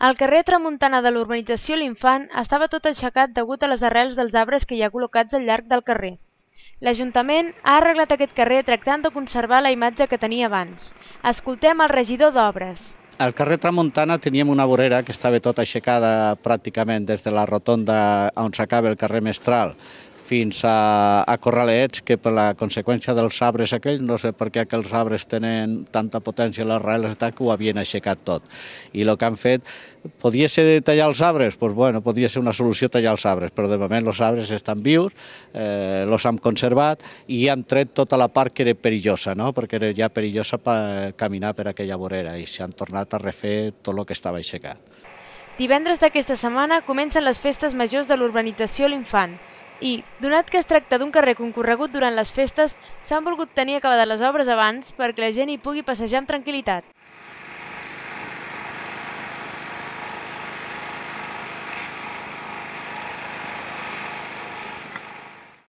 El carrer Tramuntana de l'urbanització L'Infant estava tot aixecat degut a les arrels dels arbres que hi ha col·locats al llarg del carrer. L'Ajuntament ha arreglat aquest carrer tractant de conservar la imatge que tenia abans. Escoltem el regidor d'Obres. Al carrer Tramuntana teníem una vorera que estava tota aixecada pràcticament des de la rotonda on s'acaba el carrer Mestral fins a Corralets, que per la conseqüència dels arbres aquells, no sé per què aquells arbres tenen tanta potència a les arrels, que ho havien aixecat tot. I el que han fet, podia ser tallar els arbres? Doncs bueno, podia ser una solució tallar els arbres, però de moment els arbres estan vius, els han conservat i han tret tota la part que era perillosa, no? Perquè era ja perillosa per caminar per aquella vorera i s'han tornat a refer tot el que estava aixecat. Divendres d'aquesta setmana comencen les festes majors de l'urbanització L'Infant i, donat que es tracta d'un carrer concorregut durant les festes, s'han volgut tenir acabades les obres abans perquè la gent hi pugui passejar amb tranquil·litat.